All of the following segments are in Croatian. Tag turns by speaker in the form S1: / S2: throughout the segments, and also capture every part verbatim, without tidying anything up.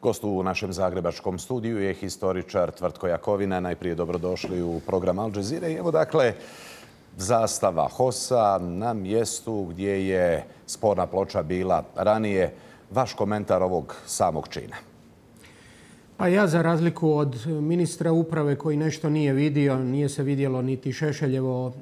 S1: Gost u našem zagrebačkom studiju je historičar Tvrtko Jakovina. Najprije dobrodošli u program Al Jazeere. Evo dakle, zastava H O S-a na mjestu gdje je sporna ploča bila ranije. Vaš komentar ovog samog čina?
S2: Pa ja, za razliku od ministra uprave koji nešto nije vidio, nije se vidjelo niti Šešeljevo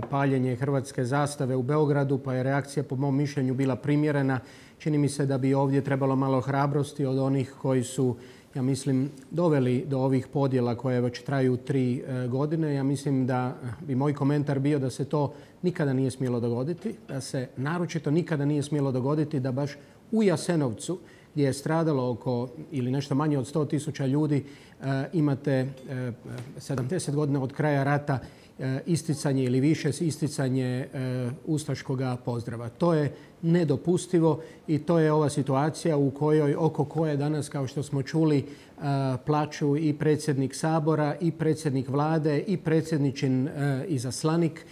S2: paljenje hrvatske zastave u Beogradu, pa je reakcija po mom mišljenju bila primjerena. Čini mi se da bi ovdje trebalo malo hrabrosti od onih koji su, ja mislim, doveli do ovih podjela koje već traju tri godine. Ja mislim da bi moj komentar bio da se to nikada nije smjelo dogoditi, da se naročito nikada nije smjelo dogoditi da baš u Jasenovcu, gdje je stradalo oko ili nešto manje od sto tisuća ljudi, imate sedamdeset godina od kraja rata isticanje ili više isticanje ustaškog pozdrava. To je nedopustivo i to je ova situacija u kojoj, oko koje danas, kao što smo čuli, plaču i predsjednik Sabora i predsjednik Vlade i predsjedničin izaslanik.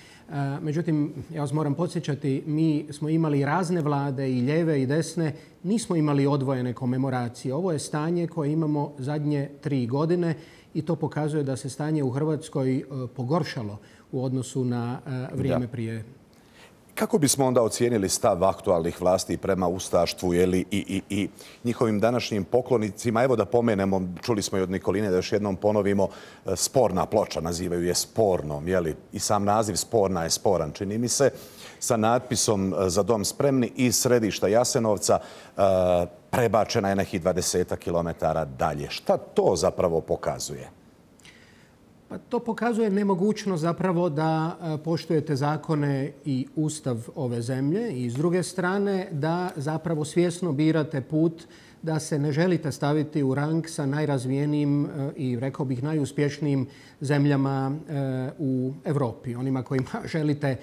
S2: Međutim, ja vas moram podsjećati, mi smo imali razne vlade, i lijeve i desne, nismo imali odvojene komemoracije. Ovo je stanje koje imamo zadnje tri godine i to pokazuje da se stanje u Hrvatskoj pogoršalo u odnosu na vrijeme prije.
S1: Kako bismo onda ocijenili stav aktualnih vlasti prema ustaštvu jeli, i, i, i njihovim današnjim poklonicima? Evo da pomenemo, čuli smo i od Nikoline, da još jednom ponovimo, sporna ploča, nazivaju je spornom. Jeli? I sam naziv sporna je sporan, čini mi se, sa natpisom Za dom spremni iz središta Jasenovca prebačena je nekih dvadesetak kilometara dalje. Šta to zapravo pokazuje?
S2: Pa to pokazuje nemogućnost zapravo da poštujete zakone i ustav ove zemlje i s druge strane da zapravo svjesno birate put da se ne želite staviti u rang sa najrazvijenijim i, rekao bih, najuspješnijim zemljama u Europi. Onima kojima želite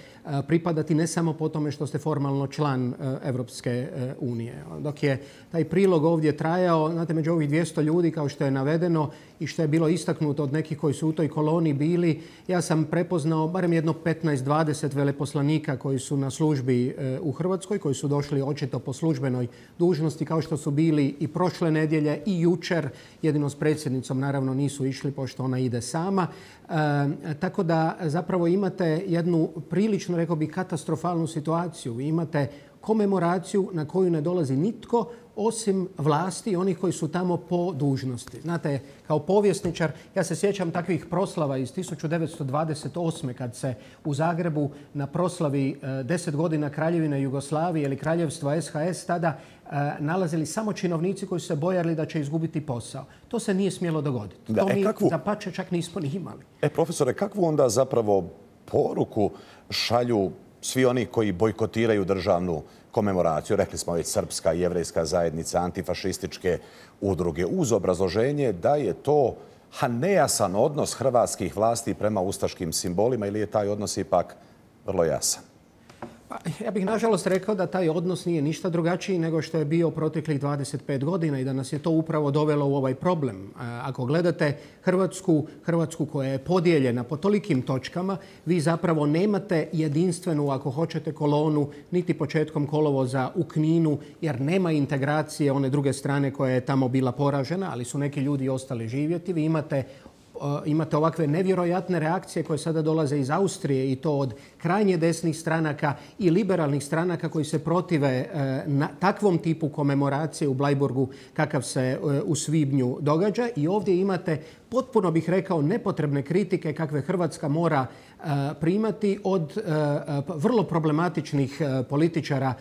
S2: pripadati ne samo po tome što ste formalno član Europske unije. Dok je taj prilog ovdje trajao, znate, među ovih dvjesto ljudi, kao što je navedeno i što je bilo istaknuto od nekih koji su u toj koloni bili, ja sam prepoznao barem jedno petnaest dvadeset veleposlanika koji su na službi u Hrvatskoj, koji su došli očito po službenoj dužnosti, kao što su bili i prošle nedjelje i jučer. Jedino s predsjednicom naravno nisu išli, pošto ona ide sama. E, tako da zapravo imate jednu prilično, rekao bih, katastrofalnu situaciju. Vi imate komemoraciju na koju ne dolazi nitko osim vlasti, onih koji su tamo po dužnosti. Znate, kao povjesničar, ja se sjećam takvih proslava iz tisuću devetsto dvadeset osme kad se u Zagrebu na proslavi deset godina Kraljevine Jugoslavije ili Kraljevstva S H S tada nalazili samo činovnici koji su se bojali da će izgubiti posao. To se nije smjelo dogoditi.
S1: Da,
S2: to
S1: e,
S2: mi
S1: kakvu...
S2: dapače čak nismo ni imali.
S1: E, profesore, kakvu onda zapravo poruku šalju svi oni koji bojkotiraju državnu komemoraciju? Rekli smo već, srpska i jevrejska zajednica, antifašističke udruge, uz obrazloženje da je to nejasan odnos hrvatskih vlasti prema ustaškim simbolima, ili je taj odnos ipak vrlo jasan?
S2: Pa, ja bih nažalost rekao da taj odnos nije ništa drugačiji nego što je bio proteklih dvadeset pet godina i da nas je to upravo dovelo u ovaj problem. Ako gledate Hrvatsku, Hrvatsku koja je podijeljena po tolikim točkama, vi zapravo nemate jedinstvenu, ako hoćete, kolonu niti početkom kolovoza u Kninu, jer nema integracije one druge strane koja je tamo bila poražena, ali su neki ljudi ostali živjeti. Vi imate Imate ovakve nevjerojatne reakcije koje sada dolaze iz Austrije i to od krajnje desnih stranaka i liberalnih stranaka koji se protive na takvom tipu komemoracije u Blajburgu kakav se u svibnju događa. I ovdje imate, potpuno bih rekao, nepotrebne kritike kakve Hrvatska mora primati od vrlo problematičnih političara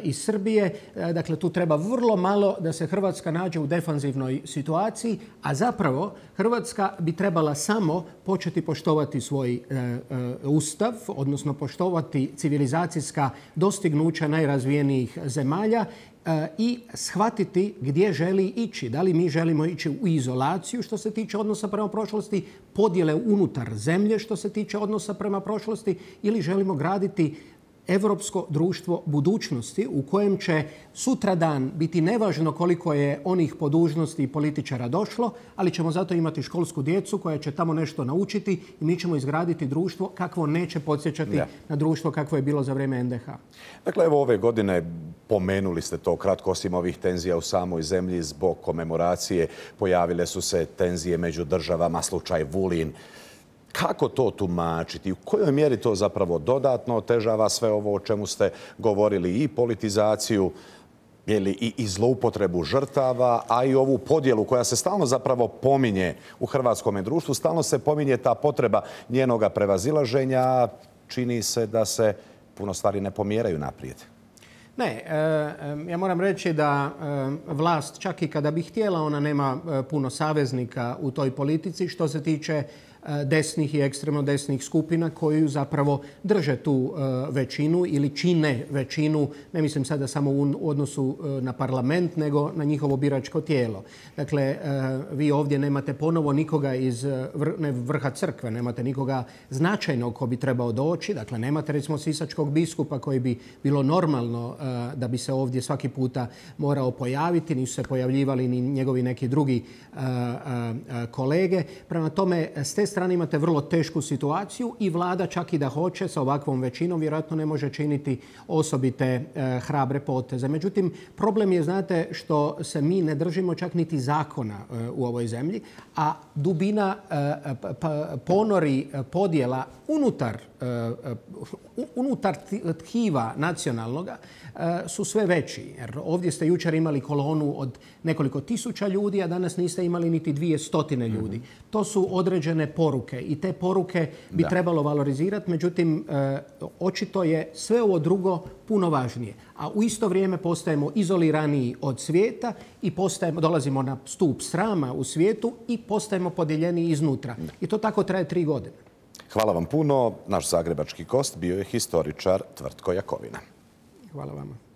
S2: iz Srbije. Dakle, tu treba vrlo malo da se Hrvatska nađe u defanzivnoj situaciji, a zapravo Hrvatska bi trebala samo početi poštovati svoj ustav, odnosno poštovati civilizacijska dostignuća najrazvijenijih zemalja i shvatiti gdje želi ići. Da li mi želimo ići u izolaciju što se tiče odnosa prema prošlosti, podjele unutar zemlje što se tiče odnosa prema prošlosti, ili želimo graditi europsko društvo budućnosti u kojem će sutradan biti nevažno koliko je onih po dužnosti i političara došlo, ali ćemo zato imati školsku djecu koja će tamo nešto naučiti i mi ćemo izgraditi društvo kakvo neće podsjećati ja. na društvo kakvo je bilo za vrijeme en de ha.
S1: Dakle, evo ove godine pomenuli ste to kratko, osim ovih tenzija u samoj zemlji zbog komemoracije, pojavile su se tenzije među državama, slučaj Vulin. Kako to tumačiti? U kojoj mjeri to zapravo dodatno otežava sve ovo o čemu ste govorili, i politizaciju i, i zloupotrebu žrtava, a i ovu podjelu koja se stalno zapravo pominje u hrvatskom društvu, stalno se pominje ta potreba njenoga prevazilaženja, čini se da se puno stvari ne pomjeraju naprijed.
S2: Ne, ja moram reći da vlast, čak i kada bi htjela, ona nema puno saveznika u toj politici što se tiče desnih i ekstremno desnih skupina koji zapravo drže tu većinu ili čine većinu, ne mislim sada samo u odnosu na parlament, nego na njihovo biračko tijelo. Dakle, vi ovdje nemate ponovo nikoga iz ne, vrha crkve, nemate nikoga značajnog ko bi trebao doći. Dakle, nemate recimo sisačkog biskupa koji bi bilo normalno da bi se ovdje svaki puta morao pojaviti. Nisu se pojavljivali ni njegovi neki drugi kolege. Prema tome, s te strane imate vrlo tešku situaciju i vlada, čak i da hoće, sa ovakvom većinom vjerojatno ne može činiti osobite e, hrabre poteze. Međutim, problem je, znate, što se mi ne držimo čak niti zakona e, u ovoj zemlji, a dubina e, pa, ponori podjela unutar, e, unutar tkiva nacionalnoga e, su sve veći. Jer ovdje ste jučer imali kolonu od nekoliko tisuća ljudi, a danas niste imali niti dvije stotine ljudi. Mm-hmm. To su određene poruke i te poruke bi da. trebalo valorizirati. Međutim, e, očito je sve ovo drugo puno važnije. A u isto vrijeme postajemo izoliraniji od svijeta i postajemo, dolazimo na stup srama u svijetu i postajemo podijeljeni iznutra. Da. I to tako traje tri godine.
S1: Hvala vam puno. Naš zagrebački gost bio je historičar Tvrtko Jakovina.
S2: Hvala vama.